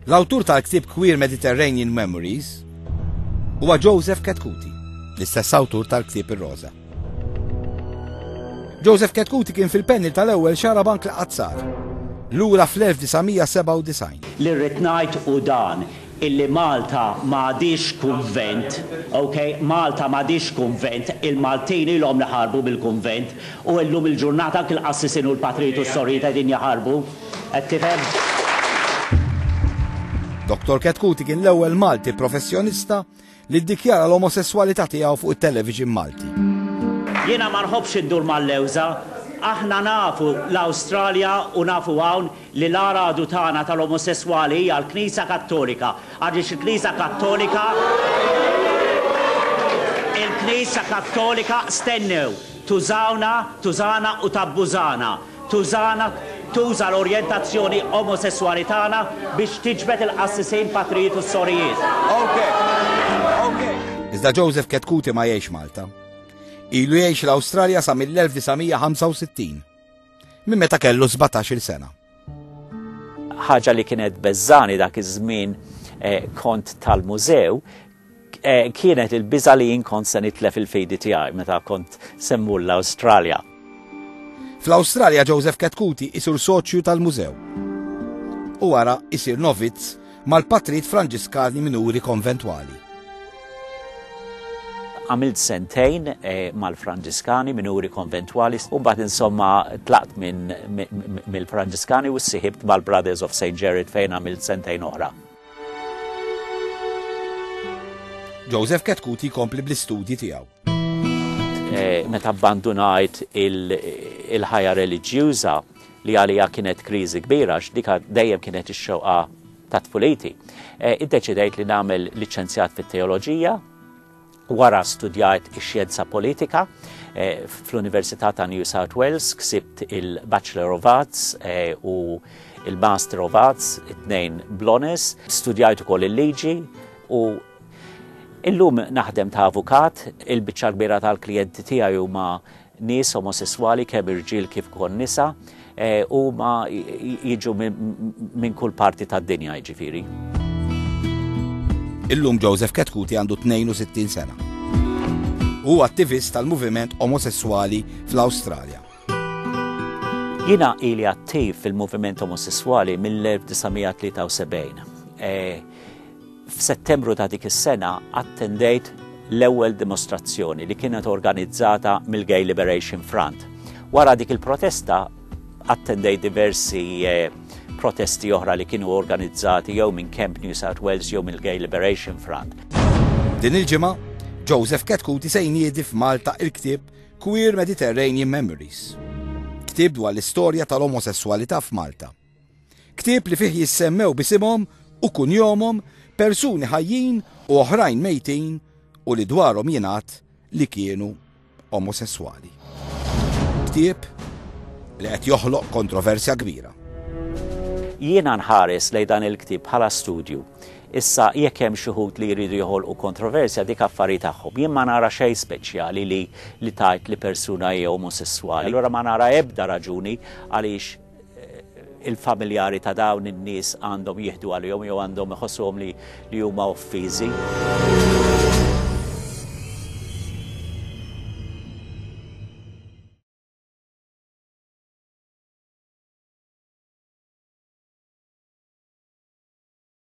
L-awtur tal-ktieb Queer Mediterranean Memories huwa Joseph Chetcuti, l-istess awtur tal-ktieb Ir-Roża. Joseph Chetcuti kien fil-panel tal-ewwel Xarabank li qatt sar, lura fl-1997. Li rrid ngħid hu dan, illi Malta m'għadhiex kunvent, ok, Malta m'għadhiex kunvent, il-Maltin ilhom li ħarbu mill-kunvent u illum il-ġurnata anki l-qassisin u l-patrijiet u s-sorijiet qegħdin jaħarbu. Qed tifhem? Dottor Chetcuti kien l-ewwel Malti professjonista li ddikjara l-omosesswalità tiegħu fuq it-television Malti. Jiena ma nħobbx indur mal-lewża. Aħna nafu l-Awstralja u nafu hawn li l-agħar għadu tagħna tal-omosesswali hija l-Knisja Kattolika għaliex il-Knisja Kattolika il-Knisja Kattolika stennew tużawna tużana u tabbużana. Tużana, tuża l-orjentazzjoni omosesswali tagħna biex tiġbed il-qassisin, patrijiet u s-sorijiet. Iżda Joseph Chetcuti ma jgħix Malta. Ilu jgħix l-Awstralja sa mill-1965, minn meta kellu 17-il sena. Ħaġa li kienet beżżani dak iż-żmien eh, kont tal-mużew eh, kienet il-biża li jien kont se nitlef il-fidi tiegħi meta kont se mmur l-Awstralja. Fl-Awstralja Joseph Chetcuti isir soċju tal-mużew. U wara isir novizz mal-patrijiet Franġiskani Minuri Konventwali. Għamilt sentejn eh, mal-Franġiskani Minuri Konventwali u mbagħad insomma tlaqt minn mill-Franġiskani u ssiħibt mal-Brothers of St. Gerard fejn għamilt sentejn oħra. Joseph Chetcuti jkompli bl-istudji tiegħu. Eh, meta abbandunajt il-ħajja reliġjuża li għalija kienet kriżi kbira, għax dika dejjem kienet ix-xewqa ta' tfuliti. Eh, iddeċidejt li nagħmel liċenzjat fit-teoloġija, wara studjajt ix-xjenza politika eh, fl-Università ta' New South Wales, ksibt il-Bachelor of Arts u il-Master of Arts, it-tnejn bl-honors, studjajt ukoll il-liġi u Illum naħdem ta' avukat, il-biċċa kbira tal-klijenti tiegħi huma nies omosesswali kemm irġiel kif ukoll nisa, eh, huma jiġu minn kull parti tad-dinja jiġifieri. Illum Joseph Chetcuti għandu 62 sena. Hu attivist tal-moviment omosesswali fl-Awstralja. Jiena ili attiv fil-moviment omosesswali mill-1973. Eh, F'Settembru ta' dik is-sena attendejt l-ewwel dimostrazzjoni li kienet organizzata mill-Gay Liberation Front. Wara dik il-protesta attendejt diversi eh, protesti oħra li kienu organizzati jew minn Camp New South Wales jew mill-Gay Liberation Front. Din il-ġimgħa, Joseph Chetcuti se jniedi f'Malta il-ktieb Queer Mediterranean Memories. Ktieb dwar l-istorja tal-omosesswalità f'Malta. Ktieb li fih jissemmew b'isimhom u kunjomhom persuni ħajjin u oħrajn mejtin u li dwarhom jingħad li kienu omosesswali. Ktieb li qed joħloq kontroversja kbira. Jiena nħares lejn dan il-ktieb bħala studju. Issa jekk hemm xi wħud li jridu joħolqu kontroversja dik affari tagħhom. Jien ma nara xejn speċjali li li tgħid li persuna hija omosesswali. Allura ma nara ebda raġuni għaliex il-familjari ta' dawn in-nies għandhom jieħdu għalihom jew għandhom iħossuhom li, li huma offiżi.